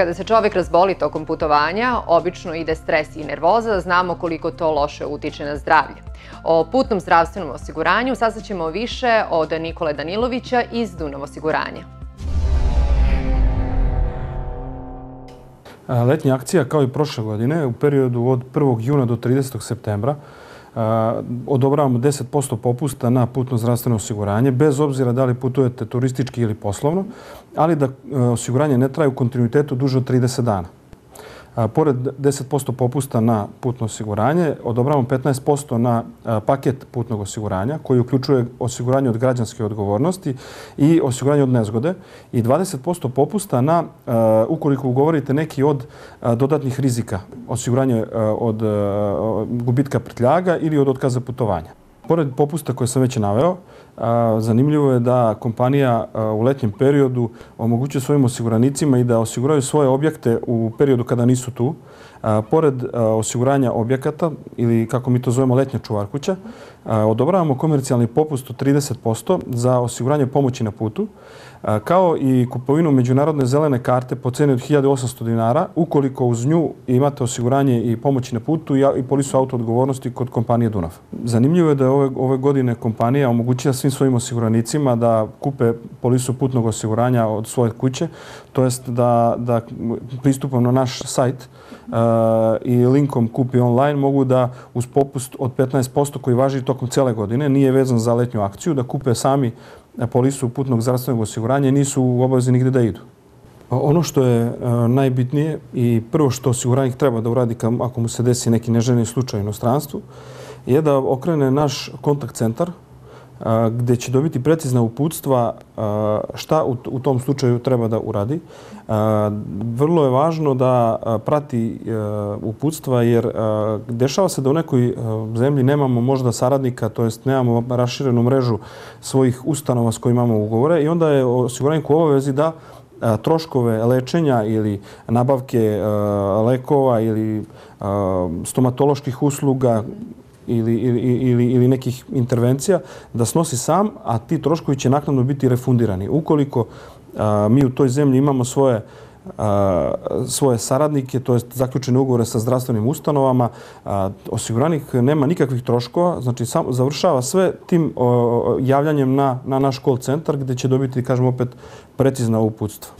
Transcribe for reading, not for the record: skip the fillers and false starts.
Kada se čovek razboli tokom putovanja, obično ide stres i nervoza, znamo koliko to loše utiče na zdravlje. O putnom zdravstvenom osiguranju saznaćemo više od Nikole Danilovića iz Dunav osiguranja. Letnja akcija, kao i prošle godine, u periodu od 1. juna do 30. septembra odobravamo 10% popusta na putno zdravstveno osiguranje, bez obzira da li putujete turistički ili poslovno, ali da osiguranje ne traje u kontinuitetu duže od 30 dana. Pored 10% popusta na putno osiguranje, odobravamo 15% na paket putnog osiguranja koji uključuje osiguranje od građanske odgovornosti i osiguranje od nezgode i 20% popusta na, ukoliko ugovorite neki od dodatnih rizika, osiguranje od gubitka prtljaga ili od otkaza putovanja. Pored popusta koje sam već naveo, zanimljivo je da kompanija u letnjem periodu omogućuje svojim osiguranicima i da osiguraju svoje objekte u periodu kada nisu tu. Pored osiguranja objekata, ili kako mi to zovemo letnja čuvarkuća, odobravamo komercijalni popust od 30% za osiguranje pomoći na putu, kao i kupovinu međunarodne zelene karte po ceni od 1800 dinara, ukoliko uz nju imate osiguranje i pomoći na putu i polisu auto odgovornosti kod kompanije Dunav. Zanimljivo je da je ove godine kompanija omogućila svim svojim osiguranicima da kupe polisu putnog osiguranja od svoje kuće, to jest da pristupom na naš sajt i linkom Kupi online mogu da uz popust od 15% koji važi tokom cele godine, nije vezan za letnju akciju, da kupe sami polisu putnog zdravstvenog osiguranja i nisu u obavezi nigde da idu. Ono što je najbitnije i prvo što osiguranik treba da uradi ako mu se desi neki neželjeni slučaj u inostranstvu je da okrene naš kontakt centar gdje će dobiti precizna uputstva šta u tom slučaju treba da uradi. Vrlo je važno da prati uputstva jer dešava se da u nekoj zemlji nemamo možda saradnika, to jest nemamo raširenu mrežu svojih ustanova s kojima imamo ugovore i onda je osiguranik u obavezi da troškove lečenja ili nabavke lekova ili stomatoloških usluga ili nekih intervencija da snosi sam, a ti troškovi će naknadno biti refundirani. Ukoliko mi u toj zemlji imamo svoje saradnike, to jest zaključene ugovore sa zdravstvenim ustanovama, osiguranik nema nikakvih troškova, znači završava sve tim javljanjem na naš call centar gdje će dobiti, kažem opet, precizna uputstva.